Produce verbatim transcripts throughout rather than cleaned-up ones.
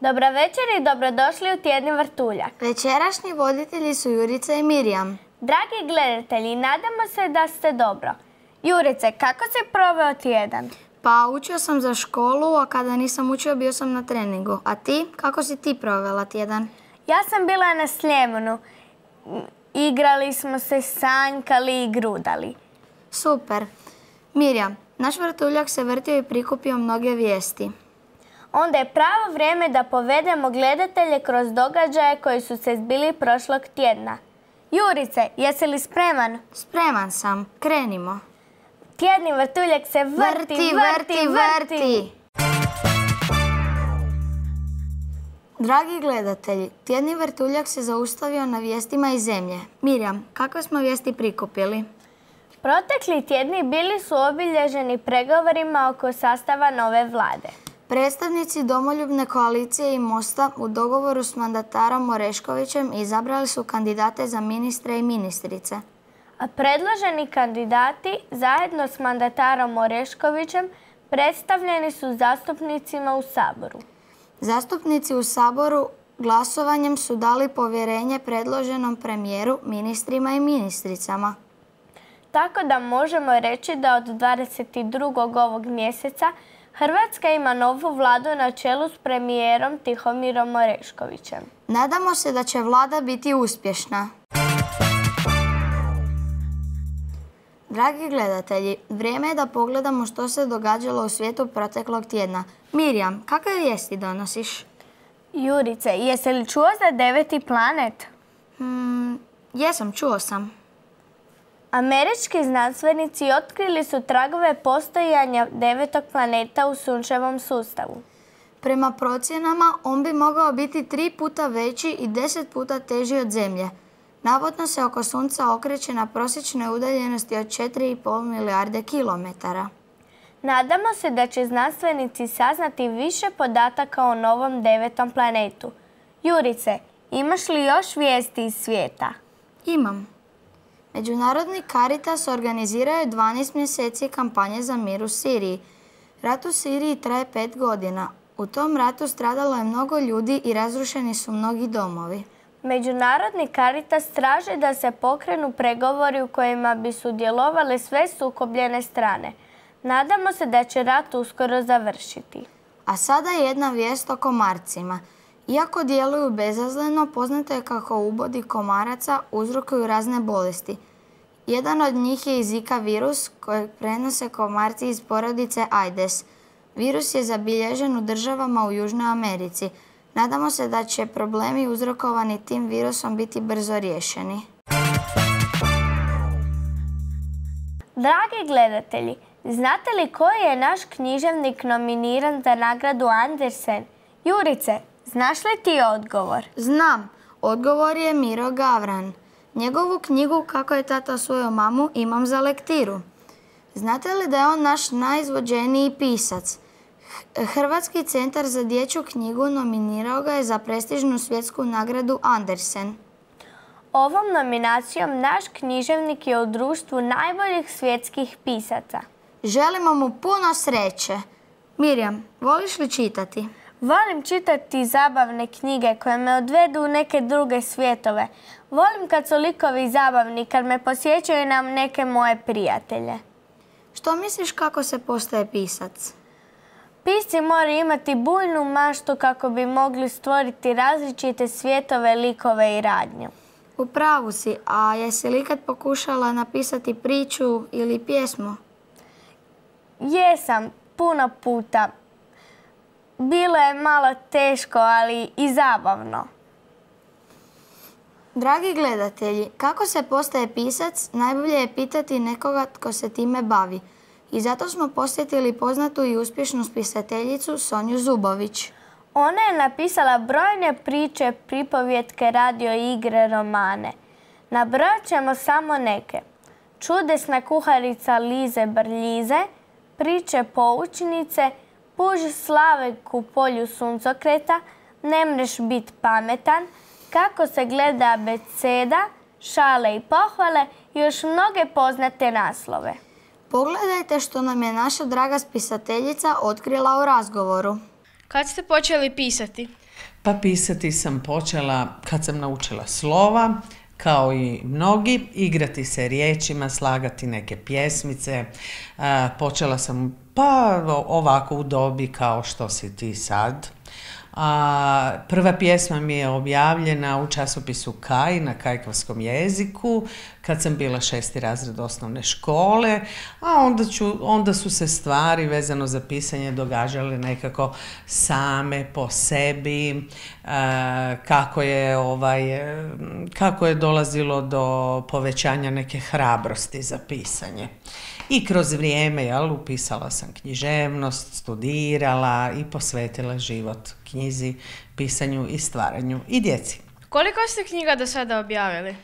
Dobra večer i dobrodošli u Tjedni vrtuljak. Večerašnji voditelji su Jurica i Mirjam. Dragi gledatelji, nadamo se da ste dobro. Jurice, kako si proveo tjedan? Pa učio sam za školu, a kada nisam učio bio sam na treningu. A ti? Kako si ti provela tjedan? Ja sam bila na Sljemenu. Igrali smo se, sanjkali i grudali. Super. Mirjam, naš vrtuljak se vrtio i prikupio mnoge vijesti. Onda je pravo vrijeme da povedemo gledatelje kroz događaje koji su se zbili prošlog tjedna. Jurice, jesi li spreman? Spreman sam. Krenimo. Tjedni vrtuljak se vrti, vrti, vrti, vrti. vrti. Dragi gledatelji, Tjedni vrtuljak se zaustavio na vijestima iz zemlje. Mirjam, kakve smo vijesti prikupili? Protekli tjedni bili su obilježeni pregovorima oko sastava nove vlade. Predstavnici Domoljubne koalicije i Mosta u dogovoru s mandatarom Oreškovićem izabrali su kandidate za ministre i ministrice. A predloženi kandidati zajedno s mandatarom Oreškovićem predstavljeni su zastupnicima u Saboru. Zastupnici u Saboru glasovanjem su dali povjerenje predloženom premijeru, ministrima i ministricama. Tako da možemo reći da od dvadeset drugog ovog mjeseca Hrvatska ima novu vladu na čelu s premijerom Tihomirom Oreškovićem. Nadamo se da će vlada biti uspješna. Dragi gledatelji, vrijeme je da pogledamo što se događalo u svijetu proteklog tjedna. Mirjam, kakve vijesti donosiš? Jurice, jesi li čuo za deveti planet? Hmm, jesam, čuo sam. Američki znanstvenici otkrili su tragove postojanja devetog planeta u sunčevom sustavu. Prema procjenama, on bi mogao biti tri puta veći i deset puta teži od Zemlje. Navodno se oko Sunca okreće na prosječnoj udaljenosti od četiri i pol milijarde kilometara. Nadamo se da će znanstvenici saznati više podataka o novom devetom planetu. Jurice, imaš li još vijesti iz svijeta? Imam. Međunarodni Caritas organizirao je dvanaest mjeseci kampanje za mir u Siriji. Rat u Siriji traje pet godina. U tom ratu stradalo je mnogo ljudi i razrušeni su mnogi domovi. Međunarodni Caritas traži da se pokrenu pregovori u kojima bi sudjelovale sve sukobljene strane. Nadamo se da će rat uskoro završiti. A sada jedna vijest o komarcima. Iako djeluju bezazleno, poznato je kako ubodi komaraca uzrokuju razne bolesti. Jedan od njih je i Zika virus kojeg prenose komarci iz porodice Aedes. Virus je zabilježen u državama u Južnoj Americi. Nadamo se da će problemi uzrokovani tim virusom biti brzo riješeni. Dragi gledatelji, znate li koji je naš književnik nominiran za nagradu Andersen? Jurice, znaš li ti odgovor? Znam. Odgovor je Miro Gavran. Njegovu knjigu Kako je tata osvojio mamu imam za lektiru. Znate li da je on naš najizvođeniji pisac? Hrvatski centar za dječju knjigu nominirao ga je za prestižnu svjetsku nagradu Andersen. Ovom nominacijom naš književnik je u društvu najboljih svjetskih pisaca. Želimo mu puno sreće. Mirjam, voliš li čitati? Volim čitati zabavne knjige koje me odvedu u neke druge svjetove. Volim kad su likovi zabavni, kad me posjećaju na neke moje prijatelje. Što misliš kako se postaje pisac? Pisci moraju imati bujnu maštu kako bi mogli stvoriti različite svjetove, likove i radnju. U pravu si, a jesi li ikad pokušala napisati priču ili pjesmu? Jesam, puno puta. Bilo je malo teško, ali i zabavno. Dragi gledatelji, kako se postaje pisac, najbolje je pitati nekoga tko se time bavi. I zato smo posjetili poznatu i uspješnu spisateljicu Sonju Zubović. Ona je napisala brojne priče, pripovjetke, radio igre, romane. Nabrojat ćemo samo neke. Čudesna kuharica Lize Brljize, priče poučnice, Puž Slavek u polju suncokreta, Ne mreš bit pametan, Kako se gleda abeceda, Šale i pohvale i još mnoge poznate naslove. Pogledajte što nam je naša draga spisateljica otkrila u razgovoru. Kad ste počeli pisati? Pa pisati sam počela kad sam naučila slova, kao i mnogi, igrati se riječima, slagati neke pjesmice. Počela sam pa ovako u dobi kao što si ti sad. A, prva pjesma mi je objavljena u časopisu Kaj na kajkavskom jeziku kad sam bila šesti razred osnovne škole, a onda, ću, onda su se stvari vezano za pisanje događale nekako same po sebi, a, kako je, ovaj, kako je dolazilo do povećanja neke hrabrosti za pisanje. I kroz vrijeme, jel, upisala sam književnost, studirala i posvetila život knjizi, pisanju i stvaranju i djeci. Koliko ste knjiga do sada objavili?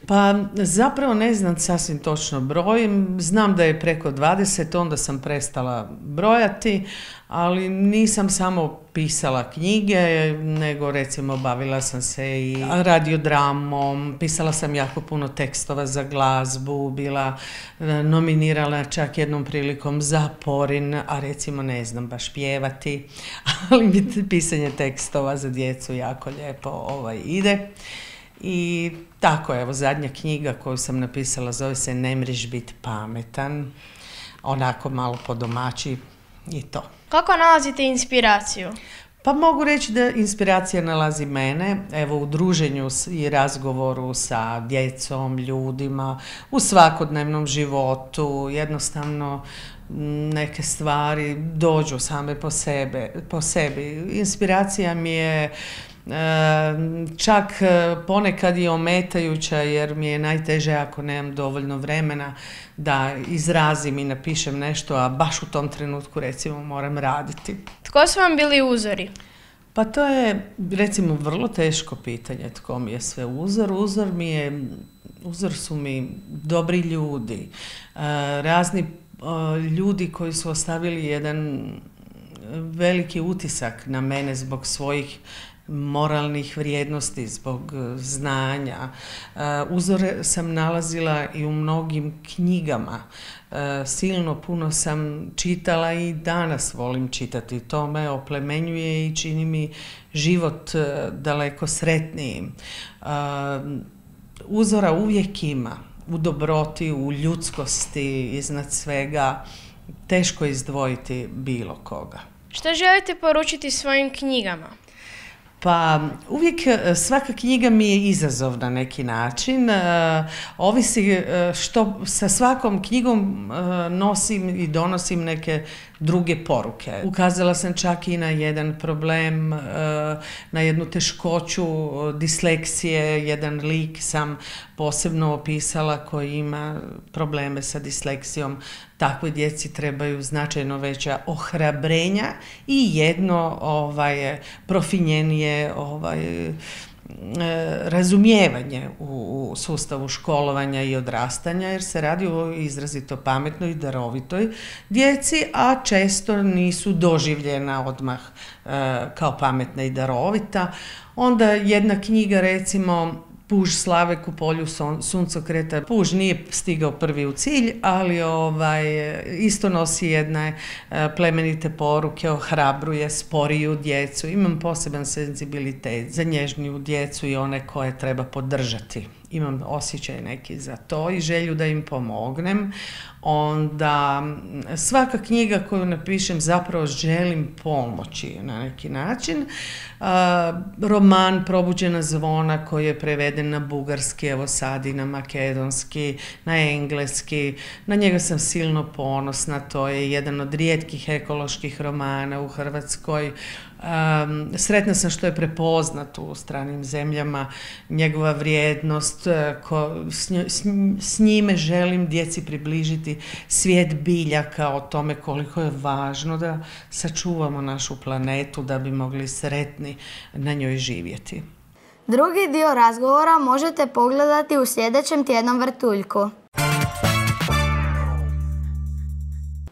Pa zapravo ne znam sasvim točno broj, znam da je preko dvadeset, onda sam prestala brojati, ali nisam samo pisala knjige, nego recimo bavila sam se i radiodramom, pisala sam jako puno tekstova za glazbu, bila nominirala čak jednom prilikom za Porin, a recimo ne znam baš pjevati, ali mi pisanje tekstova za djecu jako lijepo ovaj, ide. I tako, evo, zadnja knjiga koju sam napisala zove se Ne mriš bit pametan, onako malo po domaći i to. Kako nalazite inspiraciju? Pa mogu reći da inspiracija nalazi mene, evo, u druženju i razgovoru sa djecom, ljudima, u svakodnevnom životu, jednostavno neke stvari dođu same po, sebe, po sebi. Inspiracija mi je čak ponekad i ometajuća, jer mi je najteže ako nemam dovoljno vremena da izrazim i napišem nešto, a baš u tom trenutku recimo moram raditi. Tko su vam bili uzori? Pa to je recimo vrlo teško pitanje tko mi je sve uzor. Uzor mi je, uzor su mi dobri ljudi, razni ljudi koji su ostavili jedan veliki utisak na mene zbog svojih moralnih vrijednosti, zbog znanja. Uzore sam nalazila i u mnogim knjigama. Silno puno sam čitala i danas volim čitati. To me oplemenjuje i čini mi život daleko sretnijim. Uzora uvijek ima. U dobroti, u ljudskosti, iznad svega. Teško izdvojiti bilo koga. Što želite poručiti svojim knjigama? Pa uvijek svaka knjiga mi je izazov na neki način. Ovisi što sa svakom knjigom nosim i donosim neke druge poruke. Ukazala sam čak i na jedan problem, na jednu teškoću disleksije. Jedan lik sam posebno opisala koji ima probleme sa disleksijom. Takvoj djeci trebaju značajno veća ohrabrenja i jedno ovaj, profinjenije ovaj, razumijevanje u, u sustavu školovanja i odrastanja, jer se radi o izrazito pametnoj i darovitoj djeci, a često nisu doživljena odmah e, kao pametna i darovita. Onda jedna knjiga, recimo Puž Slavek u polju suncokreta. Puž nije stigao prvi u cilj, ali ovaj, isto nosi jedne plemenite poruke, ohrabruje sporiju djecu. Imam poseban senzibilitet za nježniju djecu i one koje treba podržati. Imam osjećaj neki za to i želju da im pomognem. Onda svaka knjiga koju napišem zapravo želim pomoći na neki način. Roman Probuđena zvona koji je preveden na bugarski, evo sad i na makedonski, na engleski. Na njega sam silno ponosna, to je jedan od rijetkih ekoloških romana u Hrvatskoj. Um, sretna sam što je prepoznat u stranim zemljama, njegova vrijednost, ko, s, s, s njime želim djeci približiti svijet biljaka, o tome koliko je važno da sačuvamo našu planetu da bi mogli sretni na njoj živjeti. Drugi dio razgovora možete pogledati u sljedećem tjednom vrtuljku.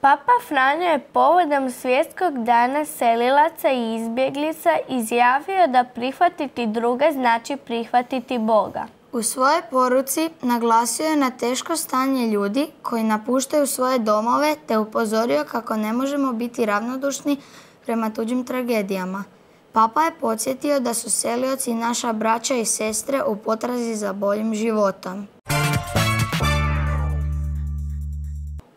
Papa Franjo je povodom Svjetskog dana selilaca i izbjeglica izjavio da prihvatiti druge znači prihvatiti Boga. U svojoj poruci naglasio je na teško stanje ljudi koji napuštaju svoje domove te upozorio kako ne možemo biti ravnodušni prema tuđim tragedijama. Papa je podsjetio da su selioci naša braća i sestre u potrazi za boljim životom.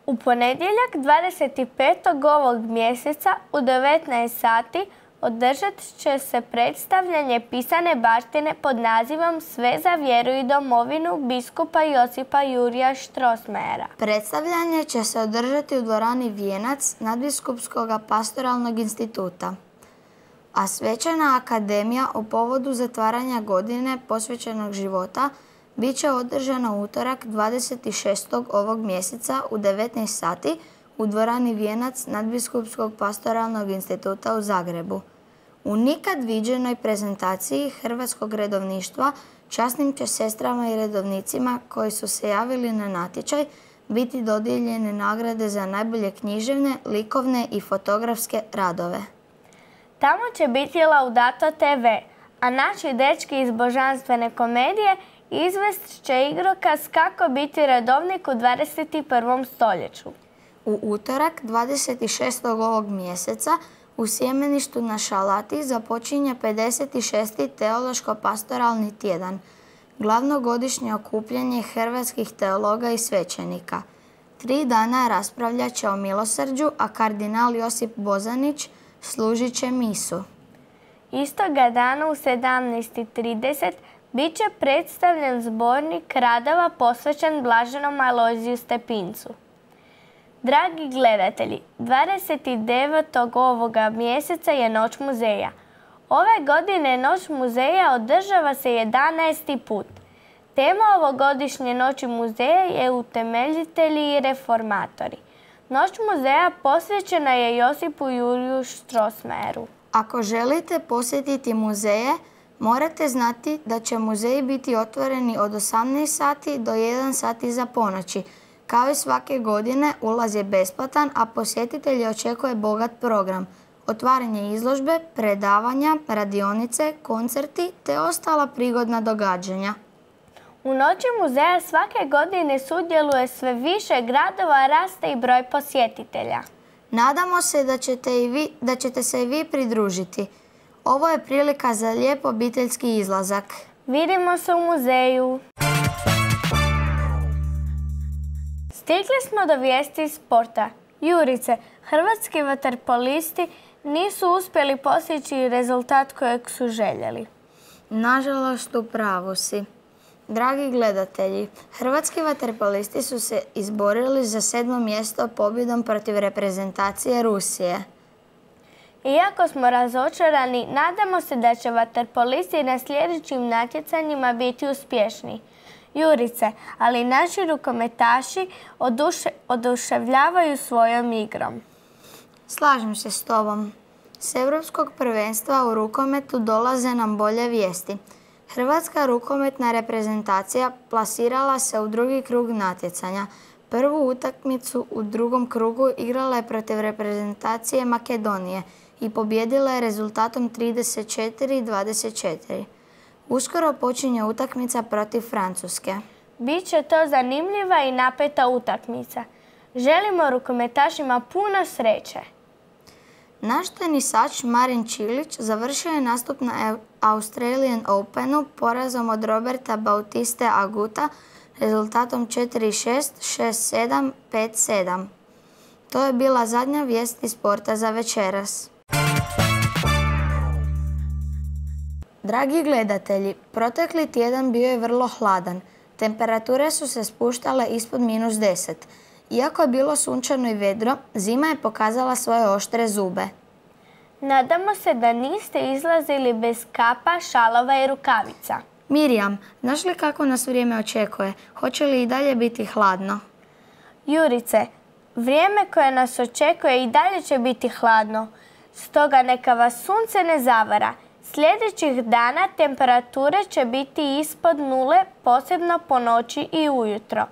U ponedjeljak dvadeset petog ovog mjeseca u devetnaest sati održat će se predstavljanje pisane baštine pod nazivom Sve za vjeru i domovinu biskupa Josipa Jurija Strossmayera. Predstavljanje će se održati u dvorani Vijenac Nadbiskupskog pastoralnog instituta, a svečana akademija u povodu zatvaranja godine posvećenog života bit će održana utorak dvadeset šestog ovog mjeseca u devetnaest sati u dvorani Vijenac Nadbiskupskog pastoralnog instituta u Zagrebu. U nikad viđenoj prezentaciji hrvatskog redovništva časnim će sestrama i redovnicima koji su se javili na natječaj biti dodijeljene nagrade za najbolje književne, likovne i fotografske radove. Tamo će biti Laudato te ve, a naši dečki iz Božanstvene komedije izvest će igrokaz kako biti redovnik u dvadeset prvom stoljeću. U utorak dvadeset šestog ovog mjeseca u Sjemeništu na Šalati započinje pedeset šesti teološko-pastoralni tjedan, glavno godišnje okupljanje hrvatskih teologa i svećenika. Tri dana raspravljat će o milosrđu, a kardinal Josip Bozanić služit će misu. Istoga dana u sedamnaest i trideset bit će predstavljen zbornik radova posvećen blaženom Alojziju Stepincu. Dragi gledatelji, dvadeset devetog ovoga mjeseca je Noć muzeja. Ove godine Noć muzeja održava se jedanaesti put. Tema ovogodišnje Noći muzeja je utemeljitelji i reformatori. Noć muzeja posvećena je Josipu Juriju Strossmayeru. Ako želite posjetiti muzeje, morate znati da će muzeji biti otvoreni od osamnaest sati do jedan sat iza ponoći. Kao i svake godine, ulaz je besplatan, a posjetitelji očekuje bogat program. Otvaranje izložbe, predavanja, radionice, koncerti te ostala prigodna događanja. U Noći muzeja svake godine sudjeluje sve više gradova, raste i broj posjetitelja. Nadamo se da ćete, i vi, da ćete se i vi pridružiti. Ovo je prilika za lijep obiteljski izlazak. Vidimo se u muzeju. Stigli smo do vijesti iz sporta. Jurice, hrvatski vaterpolisti nisu uspjeli postići rezultat kojeg su željeli. Nažalost, u pravu si. Dragi gledatelji, hrvatski vaterpolisti su se izborili za sedmo mjesto pobjedom protiv reprezentacije Rusije. Iako smo razočarani, nadamo se da će vaterpolisti na sljedećim natjecanjima biti uspješni. Jurice, ali naši rukometaši oduše, oduševljavaju svojom igrom. Slažem se s tobom. S Europskog prvenstva u rukometu dolaze nam bolje vijesti. Hrvatska rukometna reprezentacija plasirala se u drugi krug natjecanja. Prvu utakmicu u drugom krugu igrala je protiv reprezentacije Makedonije i pobijedila je rezultatom trideset četiri dvadeset četiri. Uskoro počinje utakmica protiv Francuske. Biće to zanimljiva i napeta utakmica. Želimo rukometašima puno sreće. Naš tenisač Marin Čilić završio je nastup na Australian Openu porazom od Roberta Bautiste Aguta rezultatom četiri šest, šest sedam, pet sedam. To je bila zadnja vijest iz sporta za večeras. Dragi gledatelji, protekli tjedan bio je vrlo hladan. Temperature su se spuštale ispod minus deset. Iako je bilo sunčano i vedro, zima je pokazala svoje oštre zube. Nadamo se da niste izlazili bez kapa, šalova i rukavica. Mirjam, znaš li kako nas vrijeme očekuje? Hoće li i dalje biti hladno? Jurice, vrijeme koje nas očekuje i dalje će biti hladno. Stoga neka vas sunce ne zavara. Sljedećih dana temperature će biti ispod nule, posebno po noći i ujutro.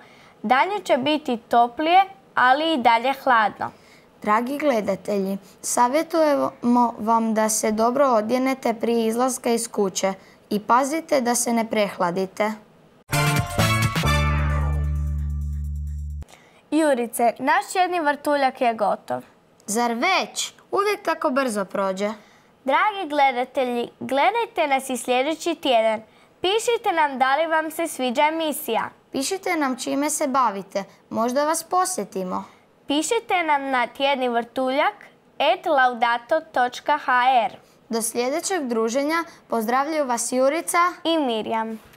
Dalje će biti toplije, ali i dalje hladno. Dragi gledatelji, savjetujemo vam da se dobro odjenete prije izlaska iz kuće i pazite da se ne prehladite. Jurice, naš jedni vrtuljak je gotov. Zar već? Uvijek tako brzo prođe. Dragi gledatelji, gledajte nas i sljedeći tjedan. Pišite nam da li vam se sviđa emisija. Pišite nam čime se bavite, možda vas posjetimo. Pišite nam na tjedni vrtuljak et laudato točka ha er. Do sljedećeg druženja pozdravljaju vas Jurica i Mirjam.